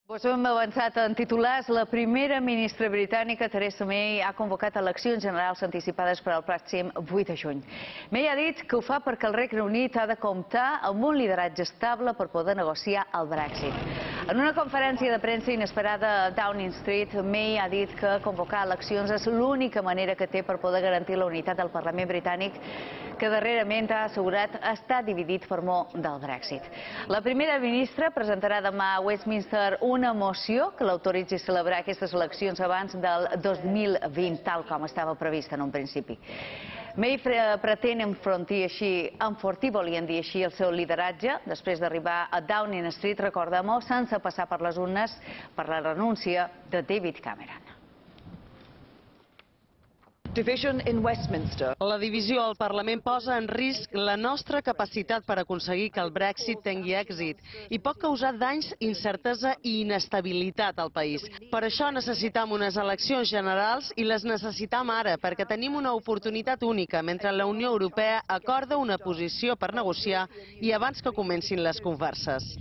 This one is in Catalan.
Ho hem avançat en titulars. La primera ministra britànica, Theresa May, ha convocat eleccions generals anticipades per al pròxim 8 de juny. May ha dit que ho fa perquè el Regne Unit ha de comptar amb un lideratge estable per poder negociar el Brexit. En una conferència de premsa inesperada a Downing Street, May ha dit que convocar eleccions és l'única manera que té per poder garantir la unitat del Parlament britànic, que darrerament ha assegurat està dividit per mor del Brexit. La primera ministra presentarà demà a Westminster una moció que l'autoritzi a celebrar aquestes eleccions abans del 2020, tal com estava previst en un principi. May pretén enfortir, volien dir així, el seu lideratge després d'arribar a Downing Street, recordem-ho, sense passar per les urnes per la renúncia de David Cameron. La divisió al Parlament posa en risc la nostra capacitat per aconseguir que el Brexit tingui èxit i pot causar danys, incertesa i inestabilitat al país. Per això necessitam unes eleccions generals i les necessitam ara, perquè tenim una oportunitat única mentre la Unió Europea acorda una posició per negociar i abans que comencin les converses.